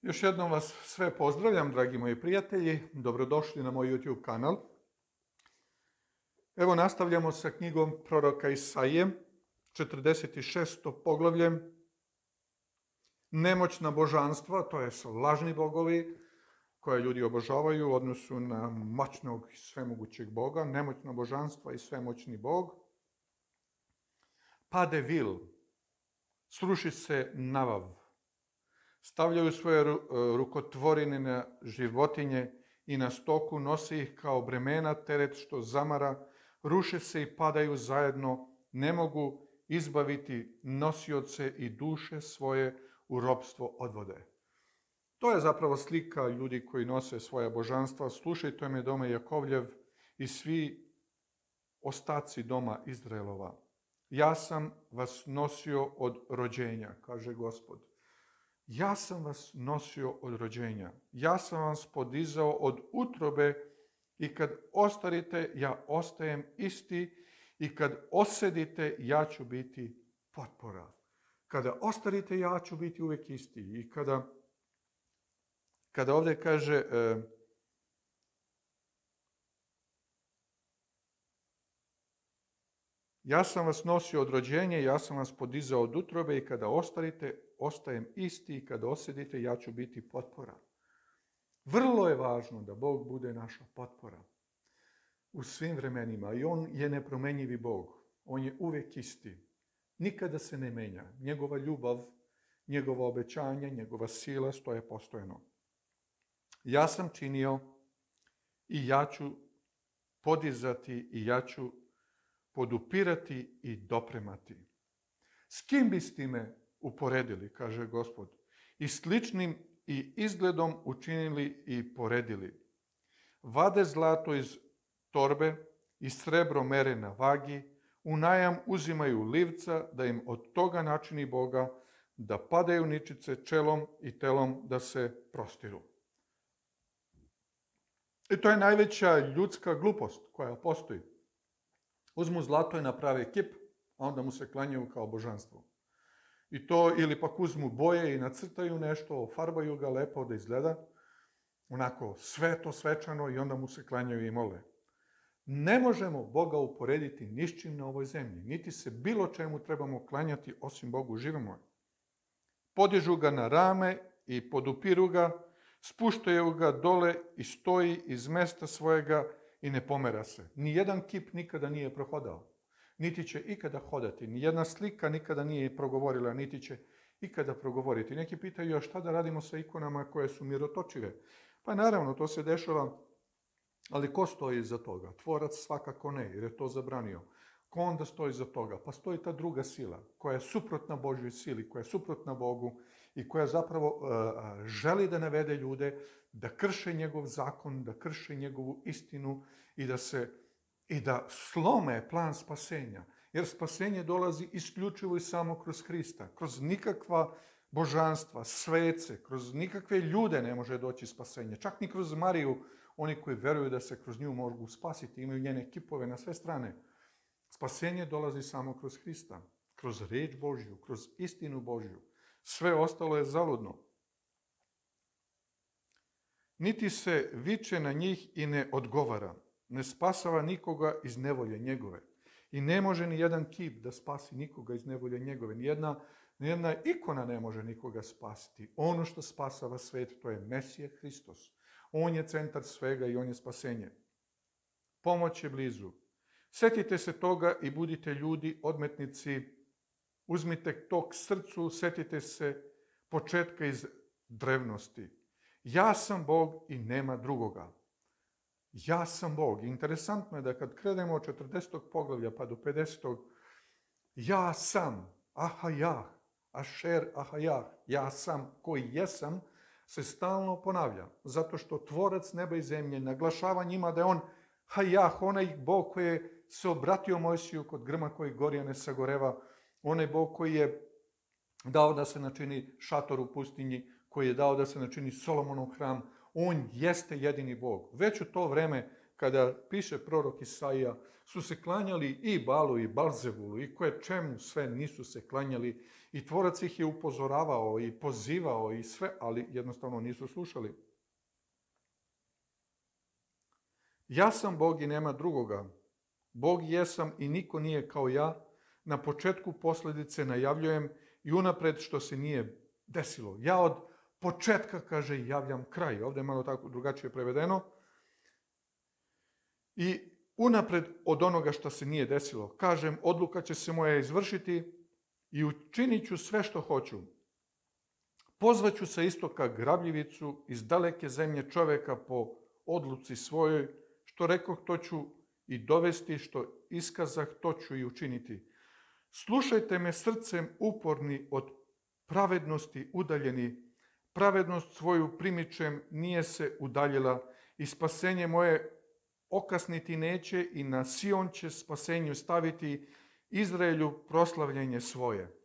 Još jednom vas sve pozdravljam, dragi moji prijatelji. Dobrodošli na moj YouTube kanal. Evo nastavljamo sa knjigom proroka Isaije, 46. poglavlje. Nemoćna božanstva, to je lažni bogovi koje ljudi obožavaju u odnosu na moćnog i svemogućeg Boga. Nemoćna božanstva i svemoćni Bog. Pade vil, sruši se navav. Stavljaju svoje rukotvorine na životinje i na stoku, nose ih kao bremena, teret što zamara, ruše se i padaju zajedno, ne mogu izbaviti nosioce i duše svoje u ropstvo odvode. To je zapravo slika ljudi koji nose svoja božanstva. Slušajte me, dome Jakovljev i svi ostaci doma Izraelova. Ja sam vas nosio od rođenja, kaže Gospod. Ja sam vas nosio od rođenja. Ja sam vas podizao od utrobe i kad ostarite, ja ostajem isti i kad osedite, ja ću biti potpora. Kada ostarite, ja ću biti uvijek isti. I kada ovdje kaže ja sam vas nosio od rođenja, ja sam vas podizao od utrobe i kada ostarite, ostajem isti i kada osedite, ja ću biti potpora. Vrlo je važno da Bog bude naša potpora u svim vremenima i On je nepromenjivi Bog. On je uvijek isti. Nikada se ne menja. Njegova ljubav, njegova obećanja, njegova sila stoje postojano. Ja sam činio i ja ću podizati i ja ću podupirati i dopremati. S kim biste me uporedili, kaže Gospod, i sličnim i izgledom učinili i poredili. Vade zlato iz torbe i srebro mere na vagi, u najam uzimaju livca da im od toga načini Boga, da padaju ničice čelom i telom da se prostiru. I to je najveća ljudska glupost koja postoji. Uzmu zlato i naprave kip, a onda mu se klanjaju kao božanstvo. I to, ili pak uzmu boje i nacrtaju nešto, ofarbaju ga lepo da izgleda, onako sveto, svečano i onda mu se klanjaju i mole. Ne možemo Boga uporediti ni s čim na ovoj zemlji, niti se bilo čemu trebamo klanjati osim Bogu živimo. Podižu ga na rame i podupiru ga, spuštaju ga dole i stoji iz mesta svojega i ne pomera se. Nijedan kip nikada nije prohodao, niti će ikada hodati. Nijedna slika nikada nije progovorila, niti će ikada progovoriti. Neki pitaju, a šta da radimo sa ikonama koje su mirotočive? Pa naravno, to se dešava, ali ko stoji iza toga? Tvorac svakako ne, jer je to zabranio. Ko onda stoji iza toga? Pa stoji ta druga sila, koja je suprotna Božjoj sili, koja je suprotna Bogu i koja zapravo želi da navede ljude da krše njegov zakon, da krše njegovu istinu i da slome plan spasenja. Jer spasenje dolazi isključivo i samo kroz Hrista. Kroz nikakva božanstva, svece, kroz nikakve ljude ne može doći spasenje. Čak ni kroz Mariju, oni koji veruju da se kroz nju mogu spasiti, imaju njene kipove na sve strane. Spasenje dolazi samo kroz Hrista, kroz riječ Božju, kroz istinu Božju. Sve ostalo je zaludno. Niti se viče na njih i ne odgovara. Ne spasava nikoga iz nevolje njegove. I ne može ni jedan kip da spasi nikoga iz nevolje njegove. Nijedna ikona ne može nikoga spasiti. Ono što spasava svet, to je Mesije Hristos. On je centar svega i on je spasenje. Pomoć je blizu. Sjetite se toga i budite ljudi, odmetnici. Uzmite to k srcu, sjetite se početka iz drevnosti. Ja sam Bog i nema drugoga. Ja sam Bog. Interesantno je da kad krenemo od 40. poglavlja pa do 50. Ja sam, ahajah, ašer ahajah, ja sam koji jesam, se stalno ponavlja. Zato što tvorac neba i zemlje naglašava njima da je on hajah, onaj Bog koji je se obratio Mojsiju kod grma koji gorja ne sagoreva, onaj Bog koji je dao da se načini šator u pustinji, koji je dao da se načini Solomonov hram. On jeste jedini Bog. Već u to vreme, kada piše prorok Isaija, su se klanjali i Balu i Balzebulu i koje čemu sve nisu se klanjali i tvorac ih je upozoravao i pozivao i sve, ali jednostavno nisu slušali. Ja sam Bog i nema drugoga. Bog jesam i niko nije kao ja. Na početku posljedice najavljujem i unapred što se nije desilo. Ja od početka, kaže, javljam kraj. Ovdje je malo tako drugačije prevedeno. I unapred od onoga što se nije desilo. Kažem, odluka će se moja izvršiti i učinit ću sve što hoću. Pozvaću sa istoka grabljivicu, iz daleke zemlje čoveka po odluci svojoj, što rekoh to ću i dovesti, što iskazah to ću i učiniti. Slušajte me srcem uporni, od pravednosti udaljeni. Pravednost svoju primičem, nije se udaljila i spasenje moje okasniti neće i na Sion će spasenju staviti, Izraelju proslavljenje svoje.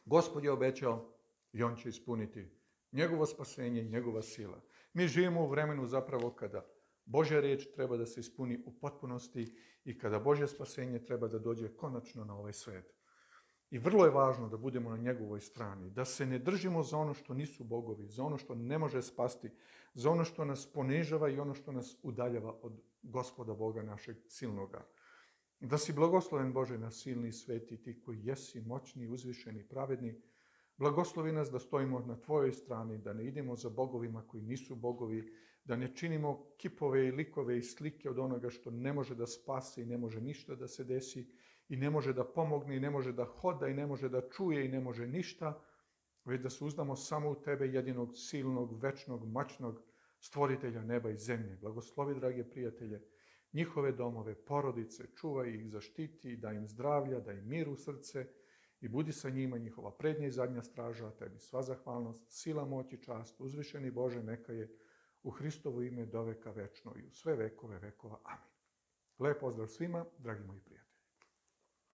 Gospod je obećao i on će ispuniti njegovo spasenje, njegova sila. Mi živimo u vremenu zapravo kada Božja riječ treba da se ispuni u potpunosti i kada Božje spasenje treba da dođe konačno na ovaj svet. I vrlo je važno da budemo na njegovoj strani, da se ne držimo za ono što nisu bogovi, za ono što ne može spasti, za ono što nas ponižava i ono što nas udaljava od Gospoda Boga našeg silnoga. Da si blagosloven Bože na silni, sveti, ti koji jesi moćni, uzvišeni, pravedni. Blagoslovi nas da stojimo na tvojoj strani, da ne idemo za bogovima koji nisu bogovi, da ne činimo kipove i likove i slike od onoga što ne može da spasi i ne može ništa da se desi i ne može da pomogne i ne može da hoda i ne može da čuje i ne može ništa, već da se uzdamo samo u tebe, jedinog silnog, večnog, moćnog stvoritelja neba i zemlje. Blagoslovi, drage prijatelje, njihove domove, porodice, čuvaj ih, zaštiti, daj im zdravlja, daj im mir u srce i budi sa njima njihova prednja i zadnja straža, a tebi sva zahvalnost, sila, moć i čast, uzvišeni Bože, neka je u Hristovo ime do veka večno i u sve vekove vekova. Amin. Lep pozdrav svima, dragi moji prijatelji.